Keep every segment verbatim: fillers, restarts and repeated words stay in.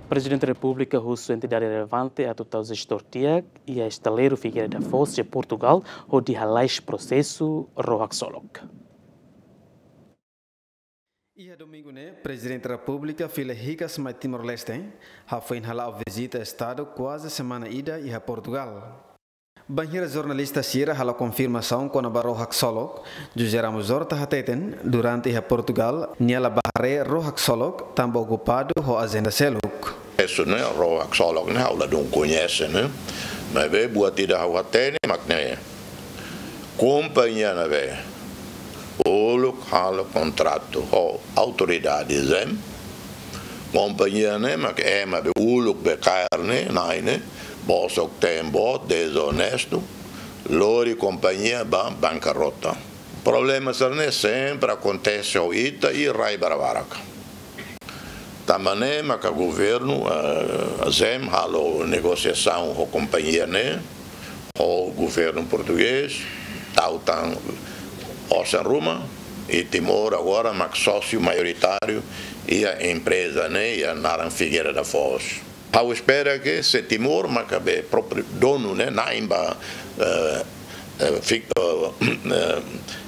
Prezidente Repúblika husu entidade relevante atu tau jestór di'ak iha estaleiru Figueira da Foz iha Portugal hodi halais prosesu ró haksolok. Iha domingu ne'e, Prezidente Repúblika fila hikas mai Timor-Leste, hafoin hala'o vizita Estadu kuaze semana ida iha Portugal. Bainhira jornalista sira halo konfirmasaun kona-ba ró haksolok, José Ramos Horta hateten, durante iha Portugal, nia la bá haree ró haksolok, tanba okupadu ho ajenda seluk. Esu ne'e, ró haksolok ne'e, ha'u ladún koñese ne'e. Maibé buat ida ha'u hatene mak ne'e. Kompañia ne'ebé uluk halo kontratu ho autoridade ZEEM. Kompañia ne'e mak ema be uluk be kaer ne'e, na'in ne'e, bosok tembo, dezonestu, lori kompañia ba bankarrota. Problema sira-ne'e sempre akontese ho ita i rai barak-barak. Tanba ne'e maka governu, eh, ZEEM halo negosiasaun ho kompañia ne'e, ho governu portugés, tau tan osan ruma, i Timor agora mak sósiu maioritáriu iha empreza ne'e, iha naran Figueira da Foz. Ha'u espera ke se Timor maka be própriu donu ne'e, na'in ba, eh, eh, fi-, eh, eh,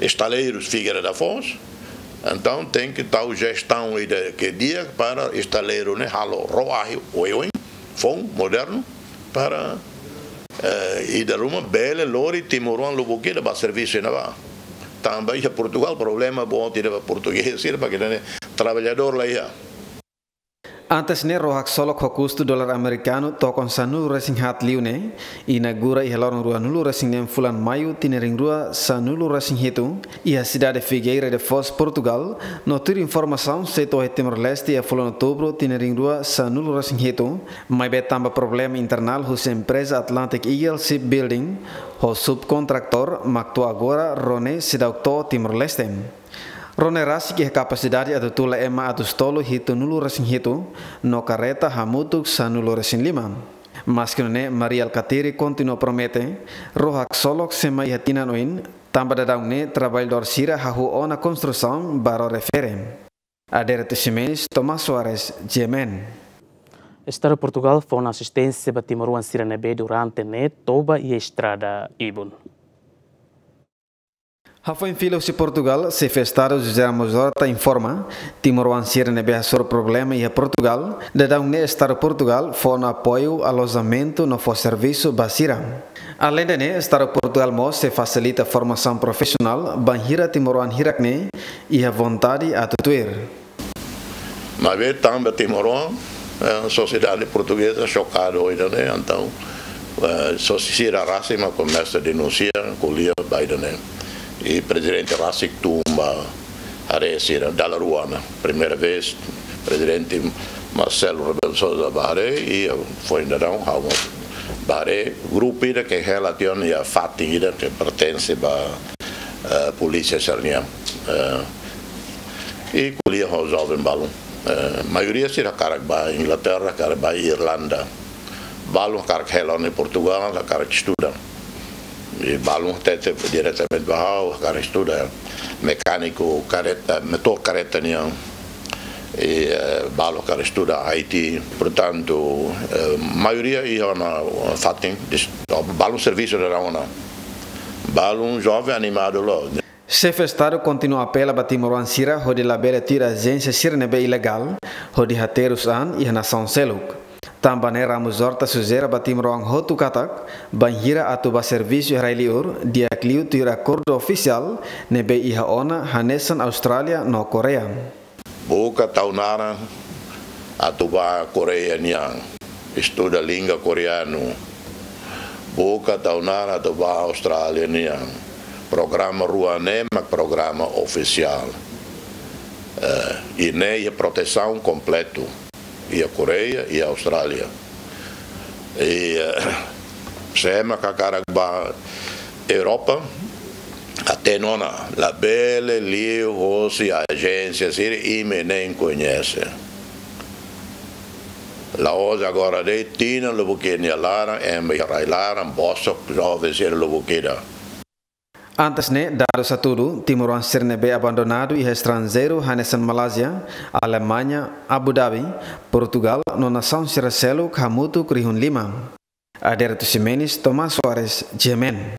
estaleirus Figueira da Foz. Entaun, tenke tau jestaun ida ke di'ak para estaleiru ne'e halo ró ahi oioin, foun, modernu, para, eh, ida ruma bele lori timoroan lubuk ida ba servisu iha ne'ebá. Tanba iha Portugal problema boot ida ba portugés, ida ba ke ne'e traballadór la iha. Antes ne'e ró haksolok ho kustu dolar amerikanu tokon sanulu-resin-haat liu ne'e inaugura iha loron ruanulu-resin-neen fulan Maiu tinan rihun rua sanulu-resin-hitu iha sidade Figueira da Foz, Portugal, no tuir informasaun sei to'o iha Timor-Leste iha fulan Outubru tinan rihun rua sanulu-resin-hitu, maibé tanba problema internál husi empreza Atlantic Eagle Shipbuilding ho subkontratór mak to'o agora ró ne'e seidauk to'o Timor-Leste. Ró ne'e rasik iha kapasidade atu tula ema atus tolu hitunulu-resin-hitu no karreta hamutuk sanulu-resin-lima. Maske nune'e, Mari Alkatiri kontinua promete, ró haksolok sei mai iha tinan oin, tanba daudaun ne'e traballadór sira hahú ona konstrusaun ba ró refere. Adérito Ximenes, Tomás Soares, G M N. Estadu Portugal fó ona asisténsia ba timoroan sira ne'ebé durante ne'e toba iha estrada ibun. Hafoin fila husi Portugal, Xefe Estadu José Ramos Horta informa, timoroan sira ne'ebé hasoru problema iha Portugal, daudaun ne'e Estadu Portugal fó ona apoiu alojamentu no fó servisu ba sira. Aleinde ne'e, Estadu Portugal mós sei fasilita formasaun profisionál bainhira timoroan hirak ne'e iha vontade atu tuir. Maibé tanba timoroan, eh, sosiedade portugeza xokadu ho ida-ne'e, entaun, eh, sosiedade sira rasik mak komesa denunsia, ko'alia ba ida-ne'e. I prezidente rasik tun ba haree sira dala rua ona. Primeira vez, prezidente Marcelo Rebelo de Sousa bá haree, i foin daudaun ha'u mós bá haree, grupu ida ke relasiona iha fatin ida ke pertense ba, eh, polísia sira-nian. Eh, i ko'alia ho joven balun. Eh, maioria sira hakarak bá Inglaterra, hakarak bá Irlanda. Balun hakarak hela ona iha Portugal, hakarak estuda. I balun hatete diretamente ba ha'u, hakarak estuda mekániku karreta, motór karreta nian. I, eh, balun hakarak estuda I T. Portantu, eh, maioria iha ona fatin, dis-, balun servisu daudaun ona. Balun joven animadu loos. Xefe Estadu kontinua apela ba timoroan sira hodi labele tuir ajénsia sira ne'ebé ilegál, hodi haterus an iha nasaun seluk. Tanba ne'e Ramos Horta sujere ba timoroan hotu katak, bainhira atu bá servisu iha rai liur, di'ak liu tuir akordu ofisiál ne'ebé iha ona hanesan Austrália no Koreia. Buka tau naran atu bá Koreia nian, estuda língua koreanu. Buka tau naran atu bá Austrália nian. Programa rua ne'e mak programa ofisiál. Eh, i ne'e iha protesaun kompletu. Iha Koreia, iha Austrália. I, eh, se ema hakarak bá Europa, hatene ona, labele liu hosi ajénsia sira imi na'in koñese. La'ós agora de'it, tinan lubuk ida nia laran, ema iha rai laran, bosok joven sira lubuk ida. Antes ne'e, dadus hatudu, timoroan sira ne'ebé abandonadu iha estranjeiru hanesan Malázia, Alemaña, Abu Dhabi, Portugal no nasaun sira seluk hamutuk rihun lima. Adérito Ximenes, Tomás Soares, G M N.